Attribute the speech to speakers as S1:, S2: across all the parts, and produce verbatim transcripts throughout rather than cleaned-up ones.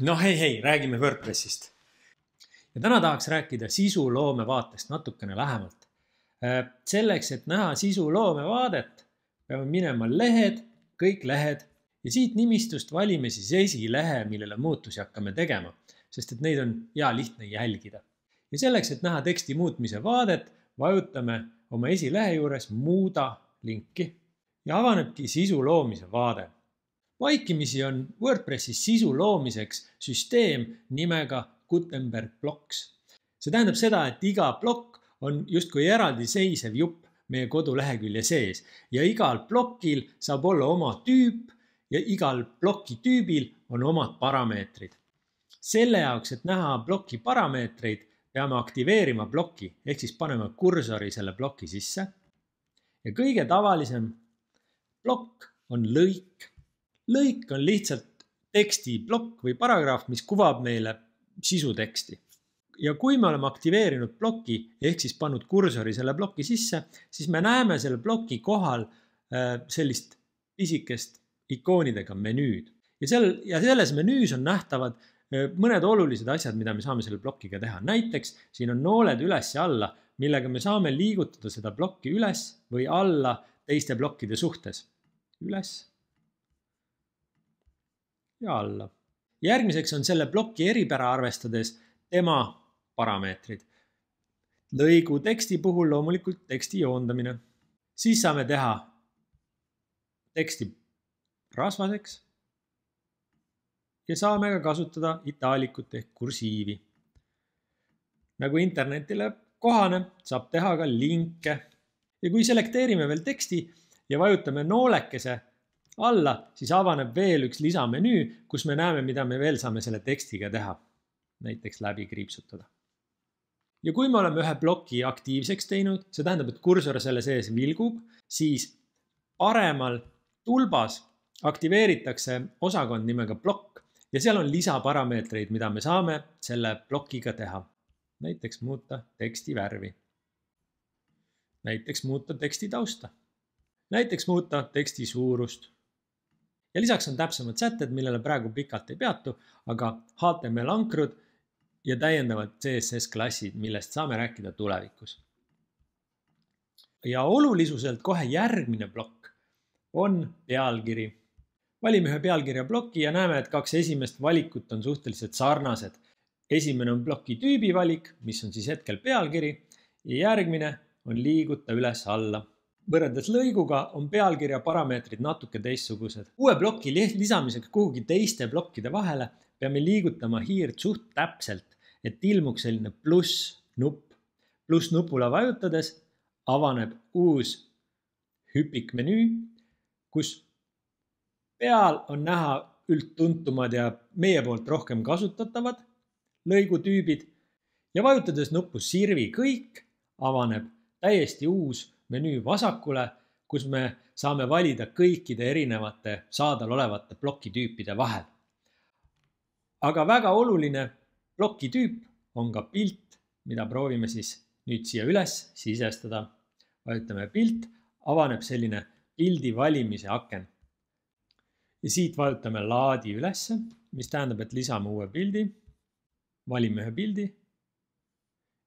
S1: No hei, hei, räägime WordPressist. Ja täna tahaks rääkida sisuloome vaatest natukene lähemalt. Selleks, et näha sisuloome vaadet, peame minema lehed, kõik lehed ja siit nimistust valime siis esilehe, millele muutusi hakkame tegema, sest et neid on hea lihtne jälgida. Ja selleks, et näha teksti muutmise vaadet, vajutame oma esilehe juures muuda linki ja avanebki sisu loomise vaade. Vaikimisi on WordPressis sisu loomiseks süsteem nimega Gutenberg Blocks. See tähendab seda, et iga plokk on justkui eraldi seisev jupp meie kodulehekülje sees ja igal plokil saab olla oma tüüp ja igal ploki tüübil on omad parameetrid. Selle jaoks, et näha ploki parameetreid, peame aktiveerima ploki ehk siis panema kursori selle ploki sisse. Ja kõige tavalisem plokk on lõik. Lõik on lihtsalt tekstiplokk või paragraaf, mis kuvab meile sisuteksti. Ja kui me oleme aktiveerinud ploki ehk siis pannud kursori selle ploki sisse, siis me näeme selle ploki kohal sellist pisikest ikoonidega menüüd. Ja, sel, ja selles menüüs on nähtavad mõned olulised asjad, mida me saame selle plokiga teha. Näiteks siin on nooled üles ja alla, millega me saame liigutada seda plokki üles või alla teiste plokkide suhtes. Üles ja alla. Järgmiseks on selle ploki eripära arvestades tema parameetrid. Lõigu teksti puhul loomulikult teksti joondamine. Siis saame teha teksti rasvaseks ja saame ka kasutada itaalikut ehk kursiivi. Nagu internetile kohane, saab teha ka linke. Ja kui selekteerime veel teksti ja vajutame noolekese alla, siis avaneb veel üks lisamenüü, kus me näeme, mida me veel saame selle tekstiga teha. Näiteks läbi kriipsutada. Ja kui me oleme ühe ploki aktiivseks teinud, see tähendab, et kursor selle sees vilgub, siis paremal tulbas aktiveeritakse osakond nimega plokk ja seal on lisaparameetreid, mida me saame selle plokiga teha. Näiteks muuta teksti värvi. Näiteks muuta teksti tausta. Näiteks muuta teksti suurust. Ja lisaks on täpsemad sätted, millele praegu pikalt ei peatu, aga H T M L ankrud ja täiendavad C S S klassid, millest saame rääkida tulevikus. Ja olulisuselt kohe järgmine plokk on pealkiri. Valime ühe pealkirja ploki ja näeme, et kaks esimest valikut on suhteliselt sarnased. Esimene on ploki tüübi valik, mis on siis hetkel pealkiri ja järgmine on liiguta üles alla. Võrreldes lõiguga on pealkirja parameetrid natuke teistsugused. Uue ploki lisamiseks kuhugi teiste plokkide vahele peame liigutama hiirt suht täpselt, et ilmuks selline pluss nupp. Pluss nupule vajutades avaneb uus hüpikmenüü, kus peal on näha üldtuntumad ja meie poolt rohkem kasutatavad lõigutüübid ja vajutades nuppu sirvi kõik avaneb täiesti uus menüü vasakule, kus me saame valida kõikide erinevate saadal olevate plokitüüpide vahel. Aga väga oluline plokitüüp on ka pilt, mida proovime siis nüüd siia üles sisestada. Vajutame pilt, avaneb selline pildi valimise aken. Ja siit vajutame laadi ülesse, mis tähendab, et lisame uue pildi. Valime ühe pildi.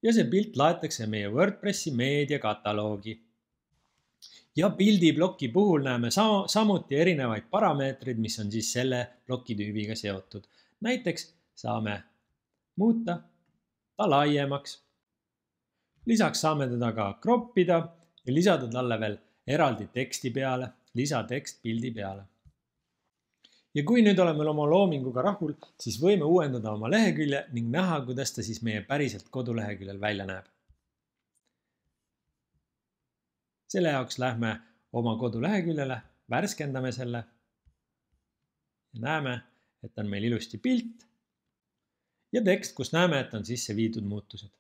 S1: Ja see pilt laetakse meie WordPressi meediakataloogi. Ja pildibloki puhul näeme sam samuti erinevaid parameetrid, mis on siis selle plokitüübiga seotud. Näiteks saame muuta ta laiemaks. Lisaks saame teda ka kroppida ja lisada talle veel eraldi teksti peale, lisatekst pildi peale. Ja kui nüüd oleme oma loominguga rahul, siis võime uuendada oma lehekülje ning näha, kuidas ta siis meie päriselt koduleheküljel välja näeb. Selle jaoks lähme oma koduleheküljele, värskendame selle ja näeme, et on meil ilusti pilt ja tekst, kus näeme, et on sisse viidud muutused.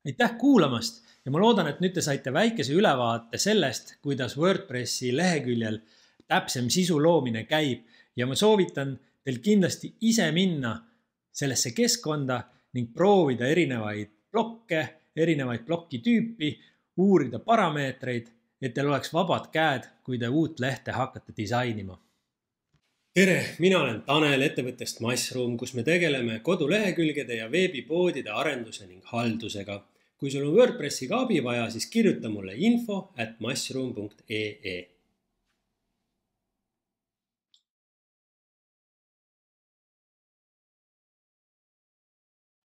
S1: Aitäh kuulamast ja ma loodan, et nüüd te saite väikese ülevaate sellest, kuidas WordPressi leheküljel täpsem sisu loomine käib ja ma soovitan teil kindlasti ise minna sellesse keskkonda ning proovida erinevaid blokke, erinevaid plokitüüpi, uurida parameetreid, et teil oleks vabad käed, kui te uut lehte hakkate disainima.
S2: tere, mina olen Tanel ettevõttest Mushroom, kus me tegeleme kodulehekülgede ja veebipoodide arenduse ning haldusega. Kui sul on WordPressiga abi vaja, siis kirjuta mulle info at mushroom punkt ee.